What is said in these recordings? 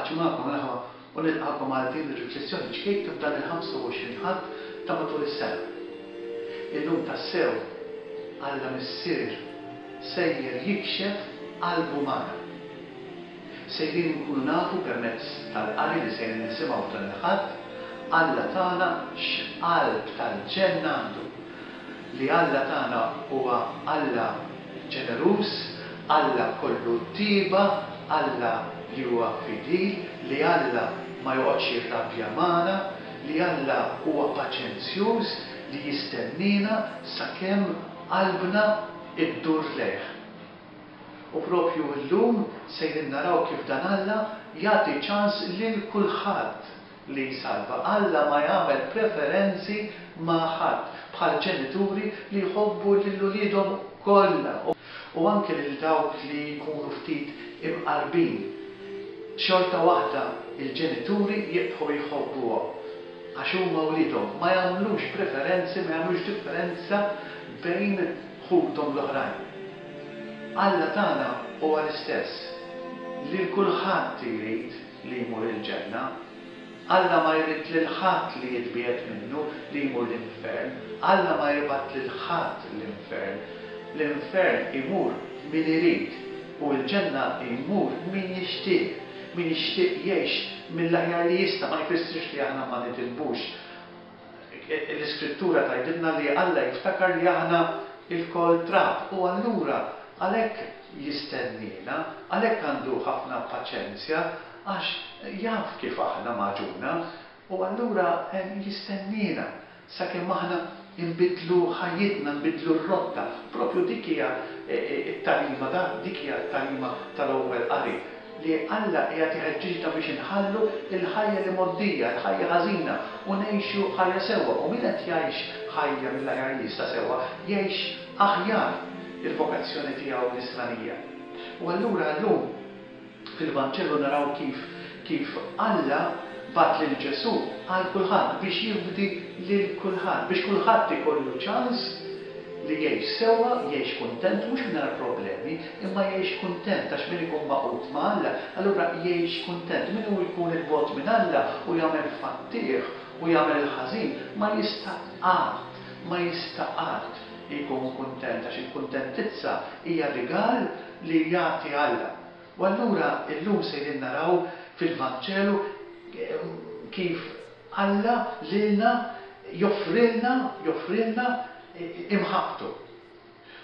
Paċi magħkom l-aħwa u nilqagħkom għal din ir-riflessjoni ċkejkna f'dan il-25 Ħadd ta' matul is-sena. Illum tassew Alla Missier sejjer jikxef qalbu magħna. Sejrin inkunu nafu permezz tal-qari li sejrin nisimgħu f'dan il-Ħadd, Alla tagħna x'qalb tal-ġenna għandu. Li Alla tagħna huwa Alla ġeneruż, Alla kollu tieba, Alla li huwa fidil, li Alla ma joqgħodx jirrabja magħna, li Alla huwa paċenzjuż li jistenniena sakemm qalbna ddur lejh. U propju llum sejrin naraw kif dan Alla jagħti ċans lil kulħadd li jsalva. Alla ma jagħmel preferenzi ma' ħadd, bħal ġenituri li jħobbu lil uliedhom kollha u anke lil dawk li jkunu ftit imqarbin. Xorta waħda l-ġenituri jibqgħu jħobbuhom għax huma wliedhom, ma jagħmlux preferenzi, ma jagħmlux differenza bejn ħuthom l-oħrajn. Alla tagħna huwa l-istess, lil kulħadd irid li jmur il-ġenna. Alla ma jrid lil ħadd li jitbiegħed minnu, li jmur l-infern. Alla ma jibgħat lil ħadd l-infern. L-infern imur min irid u l-ġenna jmur min jixtieq. Min jixtieq jgħix mill-aħjar li jista', ma jfissirx li aħna ma nidinbux. L-Iskrittura tgħidilna li Alla jiftakar li aħna lkoll trab u allura għalhekk jistenniena, għalhekk għandu ħafna paċenzja għax jaf kif aħna magħġuna u allura jistenniena sakemm aħna nbiddlu ħajjitna, nbiddlu r-rotta. Proprju dik hija t-tagħlima, dik hija t-tagħlima tal-ewwel qari. Li Alla qiegħed iħeġġiġna biex inħallu l-ħajja l-imgħoddija, il-ħajja ħażina, u ngħixu ħajja sewwa. U min qed jgħix ħajja mill-aħjar li jista' sewwa, jgħix aħjar il-vokazzjoni tiegħu nisranija. U allura llum fil-Vanġelu naraw kif kif Alla bagħat lil Ġesù għal kulħadd biex jifdi lil kulħadd, biex kulħadd ikollu ċans li jgħix sewwa, jgħix kuntent, mhux mingħajr problemi, imma jgħix kuntent għax min ikun magħqud ma' Alla, allura jgħix kuntent. Min hu jkun 'il bogħod minn Alla u jagħmel fattieħ u jagħmel il-ħażin, ma jista' qatt, ma jista' qatt jkun kuntent għax il-kuntentizza hija rigal li jagħti Alla. U allura llum sejrin naraw fil-Vanġelu kif Alla lilna joffrilna, joffrilna imħabbtu.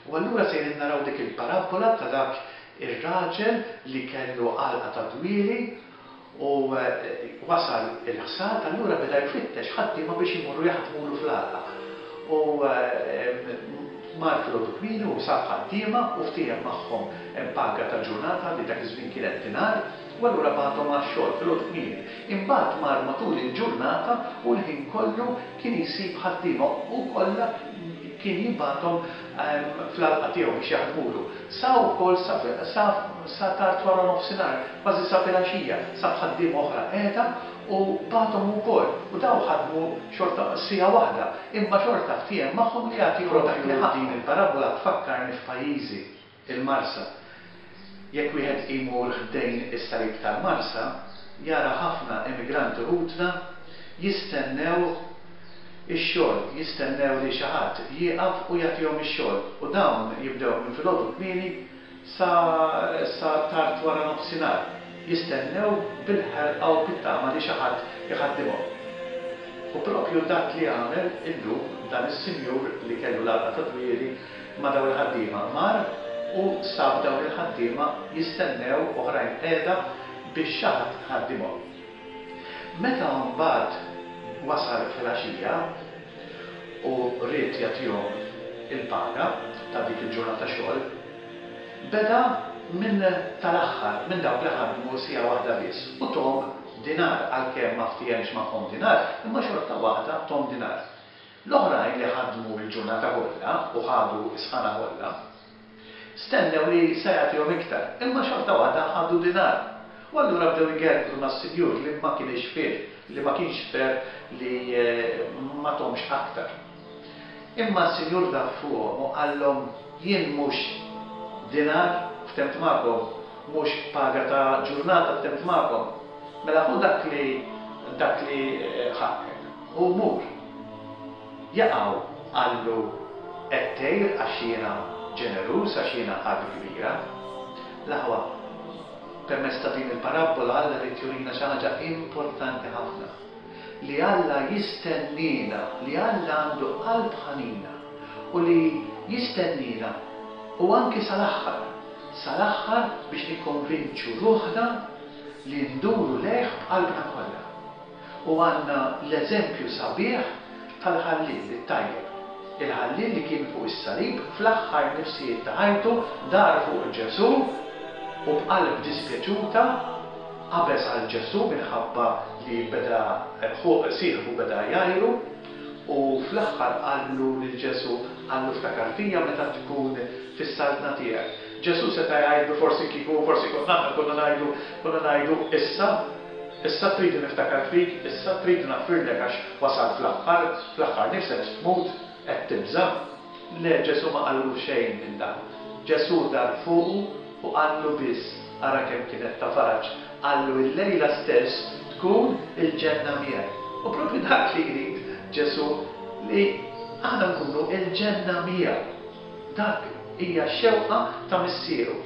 U allura sejrin naraw dik il-parabbola ta' dak ir-raġel li kellu għalqa ta' dwieli u wasal il-ħsad, allura beda jfittex ħaddiema biex imorru jaħdmulu fl-għalqa. U mar filgħodu kmieni u sab ħaddiema u ftiehem magħhom paga ta' ġurnata li dak iż-żmien kienet dinar. U allura bagħathom għax-xogħol filgħodu kmieni. Imbagħad mar matul il-ġurnata u l-ħin kollu kien jsib ħaddiema u kollha kien jibgħathom fl-għalqa tiegħu biex jaħdmulu. Sa wkoll sa sa sa tard wara nofsinhar, kważi sa filgħaxija, sab ħaddiema oħra qiegħda u bagħathom ukoll. U dawn ħadmu xorta siegħa waħda, imma xorta ftiehem magħhom li jagħtihom dak li ħaqqhom. Din il-parabbola tfakkarni f'pajjiżi. Il-Marsa. Jekk wieħed imur ħdejn is-salib tal-Marsa, jara ħafna immigranti ħutna jistennew ix-xogħol, jistennew li xi ħadd jieqaf u jagħtihom ix-xogħol. U dawn jibdew minn filgħodu kmieni sa sa tard wara nofsinhar, jistennew bil-ħerqa u bit-tama li xi ħadd iħaddimhom. U proprju dak li għamel illum dan is-sinjur li kellu l-għalqa tad-dwieli ma' dawn il-ħaddiema. Mar u sab dawn il-ħaddiema jistennew oħrajn qiegħda biex xi ħadd iħaddimhom. Meta mbagħad wasal filgħaxija u ried jagħtihom il-paga ta' dik il-ġurnata xogħol, beda minn tal-aħħar, minn dawk li ħadmu siegħa waħda biss, u tahom dinar, għalkemm ma ftihemx magħhom dinar, imma xorta waħda tahom dinar. L-oħrajn li ħadmu l-ġurnata kollha u ħadu s-sħana kollha, stennew li se jagħtihom iktar, imma xorta waħda ħadu dinar. U allura bdew igergru mas-sinjur li ma kinitx fair, li ma kienx fair li ma thomx aktar. Imma s-sinjur daf fuqhom u qallhom, Jien mhux dinar ftemt magħkom, mhux paga ta' ġurnata ftemt magħkom. Mela ħu dak li dak li ħaqqek u mur. Jaqaw qallu qed tgħir għax jiena ġeneruż, għax jiena qalbi kbira. L-aħwa, permezz ta' din il-parabbola Alla ried jurina xi ħaġa importanti ħafna. Li Alla jistenniena, li Alla għandu qalb ħanina u li jistenniena u anki sal-aħħar, sal-aħħar biex nikkonvinċu ruħna li nduru lejh b'qalbna kollha. U għandna l-eżempju sabiħ tal-ħalliel it-tajjeb. Il-ħalliel li kien fuq is-salib fl-aħħar nifsijiet ta' ħajtu dar fuq Ġesù u b'qalb dispjaċuta qabeż għal Ġesù minħabba li beda sieħbu beda jgħajru u fl-aħħar qallu lil Ġesù, qallu ftakar fija meta tkun fis-saltna tiegħek. Ġesù seta' jgħidlu forsi kieku, forsi konna aħna konna ngħidu, konna ngħidu issa, issa tridni niftakar fik, issa tridni naħfirlek għax wasalt fl-aħħar, fl-aħħar nifs qed tmut, qed tibża'. Le, Ġesù ma qallu xejn minn dan. Ġesù dar fuqu u qallu biss, ara kemm kienet ta' faraġ, qallu illejla stess tkun il-ġenna miegħi. U proprju dak li jrid Ġesù, li aħna nkunu l-ġenna miegħu. Dak hija x-xewqa ta' Missieru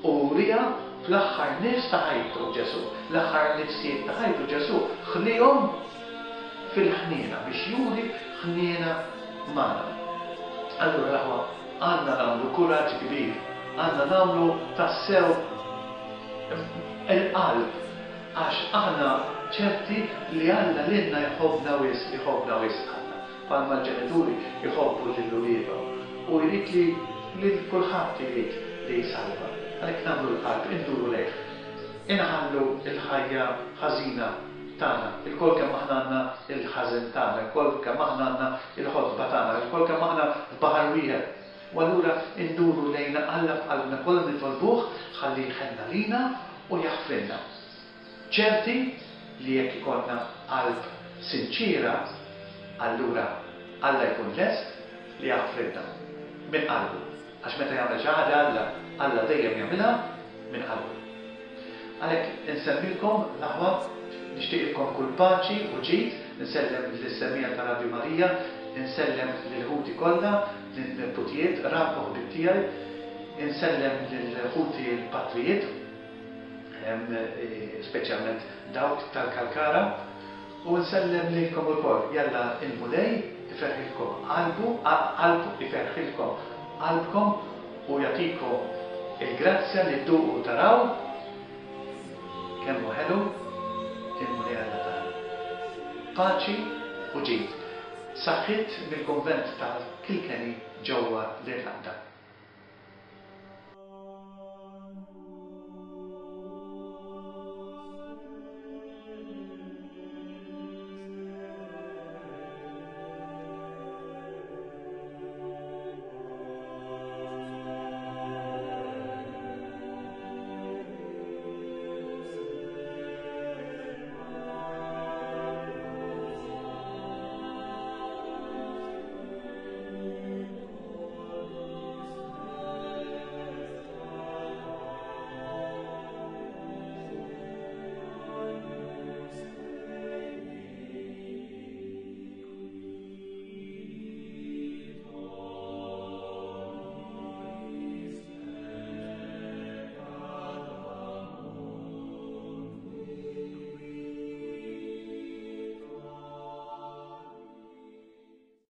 u wriha fl-aħħar nifs ta' ħajtu Ġesù. L-aħħar nifsijiet ta' ħajtu Ġesù ħliehom fil-ħniena biex juri ħniena magħna. Allura l-aħwa għandna nagħmlu kuraġġ kbir, għandna nagħmlu tassew il-qalb għax aħna ċerti li Alla lilna jħobbna wisq, iħobbna wisq Alla. Bħalma l-ġenituri jħobbu lil uliedhom. Hu jrid li lil kulħadd irid li jsalva. Għalhekk nagħmlu l-qalb, induru lejh. Inħallu l-ħajja ħażina tagħna. Ilkoll kemm aħna għandna l-ħażen tagħna, ilkoll kemm aħna għandna l-ħotba tagħna, ilkoll kemm aħna f'baħar wieħed. U allura nduru lejn Alla b'qalbna kollha nitolbuh ħalli jħenn għalina u jaħfrilna. Ċerti li jekk ikollna qalb sinċiera, allura Alla jkun lest li jaħfrilna minn qalbu. Għax meta jagħmel xi ħaġa Alla, Alla dejjem jagħmilha minn qalbu. Għalhekk insellmilkom l-aħwa, nixtieqilkom kull paċi u ġid, insellem lis-semmiegħa ta' Radju Marija, insellem lil ħuti kollha, lin-neputijiet, qrab u ħbieb tiegħi, insellem lil ħuti l-patrijiet, speċjalment dawk tal-Kalkara, u nsellem lilkom ukoll. Jalla l-Mulej iferrħilkom qalbu, qalb, iferrħilkom qalbkom u jagħtikom il-grazzja li dduqu u taraw kemm hu ħelu il-Mulej Alla tagħna. Paċi u ġid. Saħħiet mill-kunvent ta' Kilkenny ġewwa l-Irlanda.